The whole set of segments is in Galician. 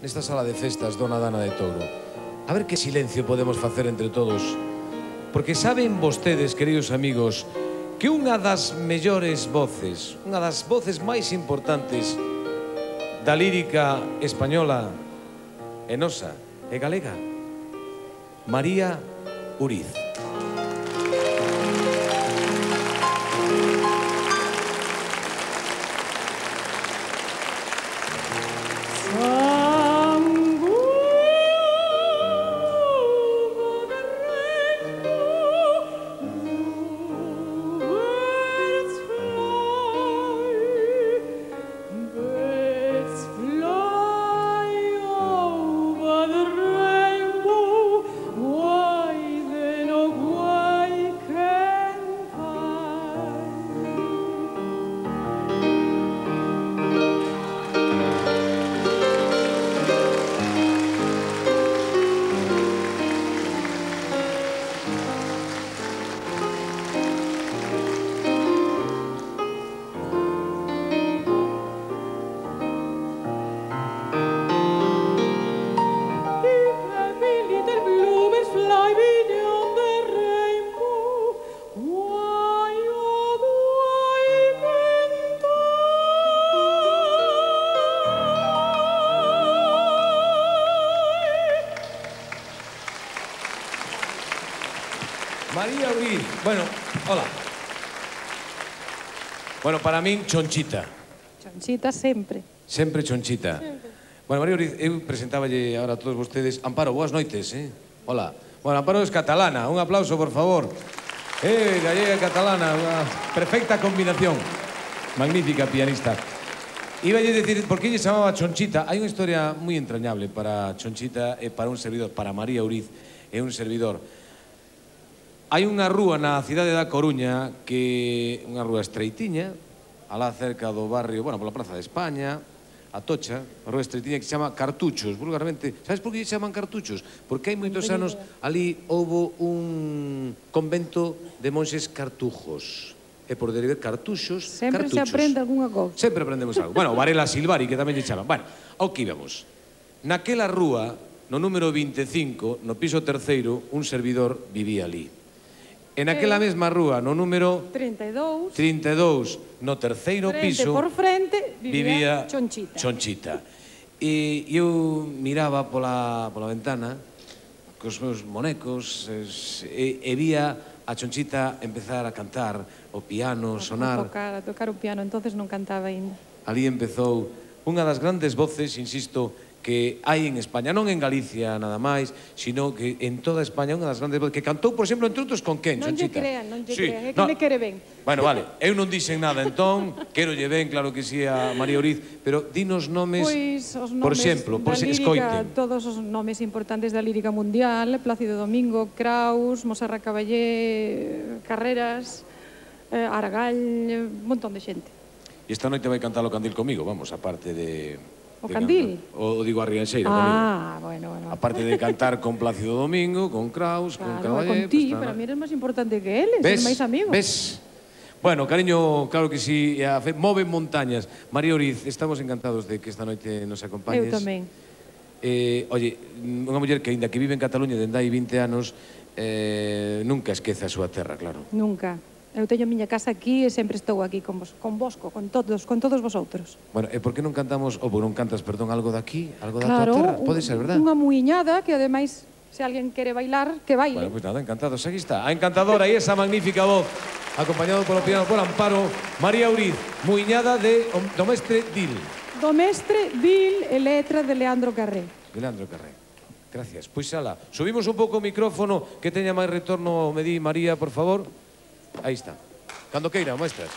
nesta sala de festas Dona Dana de Touro. A ver que silencio podemos facer entre todos. Porque saben vostedes, queridos amigos, que unha das mellores voces, unha das voces máis importantes da lírica española e nosa e galega, María Uriz. María Uriz, bueno, hola. Bueno, para min, Chonchita. Chonchita sempre. Sempre Chonchita. Sempre. Bueno, María Uriz, eu presentáballe ahora a todos vostedes. Amparo, boas noites, Hola. Bueno, Amparo es catalana, un aplauso, por favor. Gallega catalana, unha perfecta combinación. Magnífica pianista. Iba a decir, por que lle chamaba Chonchita? Hai unha historia moi entrañable para Chonchita e para un servidor, para María Uriz e un servidor. Hai unha rúa na cidade da Coruña que unha rúa estreitiña, alá cerca do barrio, bueno, pola Praza de España, Atocha, a rúa estreitiña que se chama Cartuchos, vulgarmente. Sabes por que se chaman Cartuchos? Porque hai moitos anos ali houbo un convento de monxes cartujos. E por derivar cartuxos, Sempre cartuchos. se aprende algunha cousa. Sempre aprendemos algo. Bueno, Varela Silvari, que tamén lle chaman. Bueno, ao que íbamos. Naquela rúa, no número 25, no piso terceiro, un servidor vivía ali. En aquela mesma rúa, no número 32, no terceiro piso, por frente, vivía Chonchita. Chonchita. E eu miraba pola ventana cos meus monecos e vía a Chonchita empezar a cantar, o piano, sonar. A tocar o piano, entonces non cantaba ainda. Ali empezou unha das grandes voces, insisto, que hai en España, non en Galicia nada máis, sino que en toda España unha das grandes voces, que cantou, por exemplo, entre outros con quen, Chonchita? Non lle crean, é que me quere ben. Bueno, vale, eu non dixen nada entón, quero lle ben, claro que sí, a María Uriz, pero dinos nomes, por exemplo, por se escoiten. Todos os nomes importantes da lírica mundial, Plácido Domingo, Kraus, Moserra Caballé, Carreras, Aragall, un montón de xente. E esta noite vai cantar o Candil comigo, vamos, aparte de... O Candil? O digo a Rianxeira comigo. Bueno. Aparte de cantar con Plácido Domingo, con Kraus, con Caballé... Con ti, para mí eres máis importante que eles, eres máis amigos. Ves? Bueno, cariño, claro que sí, move montañas. María Uriz, estamos encantados de que esta noite nos acompañes. Eu tamén. Oye, unha muller que, ainda que vive en Cataluña dende hai 20 anos, nunca esquece a súa terra, claro. Nunca. Eu teño a miña casa aquí e sempre estou aquí convosco, con todos vosotros. Bueno, e por que non cantamos, ou non cantas, perdón, algo daqui, algo da tua terra? Pode ser, verdad? Unha muiñada que, ademais, se alguén quere bailar, que baile. Bueno, pois nada, encantados. Aquí está, a encantadora e esa magnífica voz, acompañado polo piano por Amparo, María Uriz, muiñada do mestre Dil. Do mestre Dil e letra de Leandro Carré. De Leandro Carré. Gracias. Pois ala, subimos un pouco o micrófono, que teña máis retorno, me di María, por favor. Aí está. Cando queira, maestras.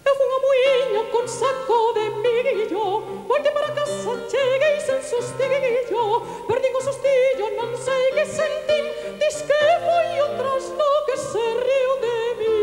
Eu fun a muiño con saco de millo, voltei para casa, cheguei sen sustillo, perdín o sustillo, non sei que sentín, dis que foi o trasno que se riu de mí.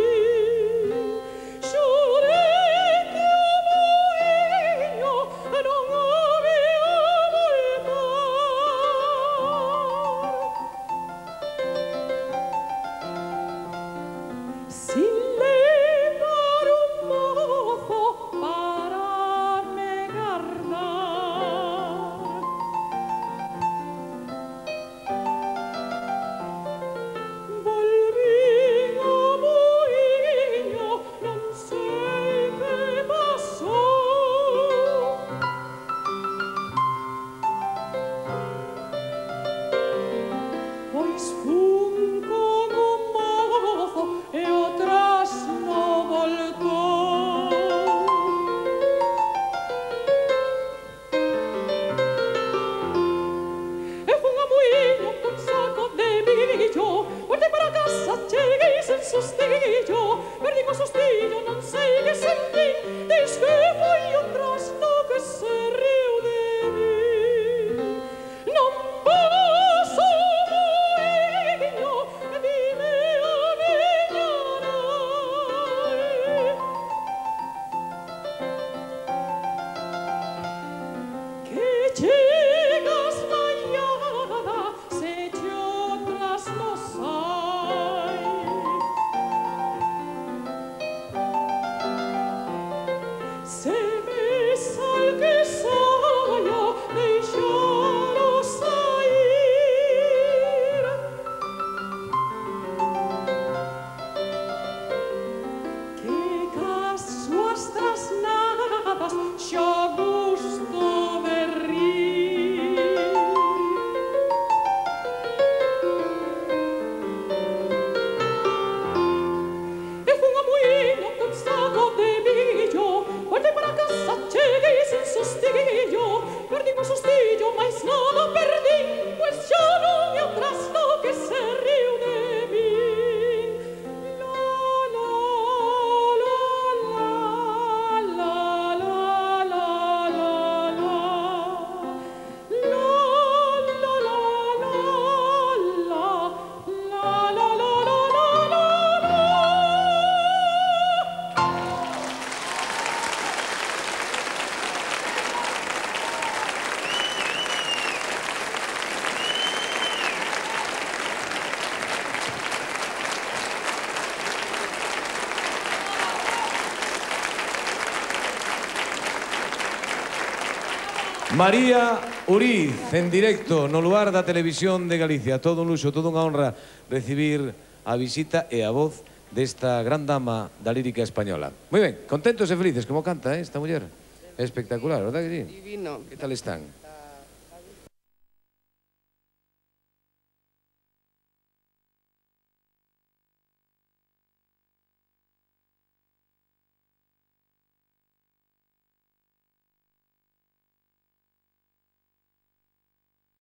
Se me sal que saia, deixalo sair. Que cas súas trasnadas xa gusto de rir. E fun a muíño con saco de millo, voltei para casa, cheguei sen sustillo, perdín o sustillo, mais nada perdín, pois xa non é o trasto que se riu de min. La, la, la, la, la, la, la, la, la. La, la, la, la, la, la, la, la, la, la. María Uriz, en directo, no lugar da Televisión de Galicia. Todo un luxo, toda unha honra recibir a visita e a voz desta gran dama da lírica española. Moi ben, contentos e felices, como canta esta muller. É espectacular, verdad que sí? Divino. Que tal están?